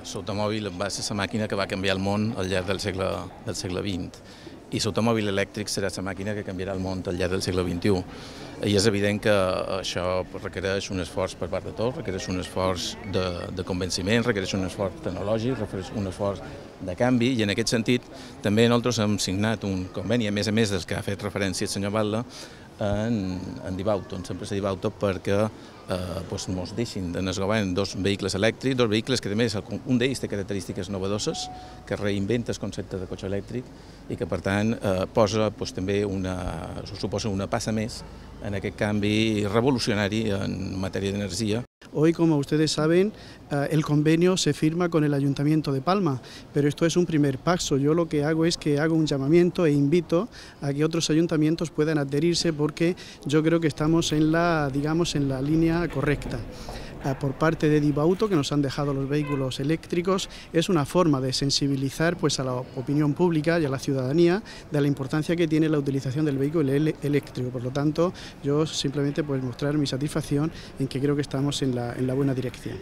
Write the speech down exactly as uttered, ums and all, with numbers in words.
L'automòbil va ser la màquina que va canviar el món al llarg del segle, del segle vint i l'automòbil elèctric serà la màquina que canviarà el món al llarg del segle vint-i-u. I és evident que això requereix un esforç per part de tots, requereix un esforç de, de convenciment, requereix un esforç tecnològic, requereix un esforç de canvi, i en aquest sentit també nosaltres hem signat un conveni, a més a més del que ha fet referència el senyor Batlle, en, en Dibauto, en l'empresa Dibauto, perquè eh, pues, ens deixin en el govern dos vehicles elèctrics, dos vehicles que a més un d'ells té característiques novedoses, que reinventa el concepte de cotxe elèctric i que per tant eh, posa pues, també una, suposa una passa més en aquest canvi revolucionari en matèria d'energia. Hoy, como ustedes saben, el convenio se firma con el Ayuntamiento de Palma, pero esto es un primer paso. Yo lo que hago es que hago un llamamiento e invito a que otros ayuntamientos puedan adherirse, porque yo creo que estamos en la, digamos, en la línea correcta. Por parte de Dibauto, que nos han dejado los vehículos eléctricos, es una forma de sensibilizar pues, a la opinión pública y a la ciudadanía de la importancia que tiene la utilización del vehículo eléctrico. Por lo tanto, yo simplemente pues, mostrar mi satisfacción en que creo que estamos en la, en la buena dirección.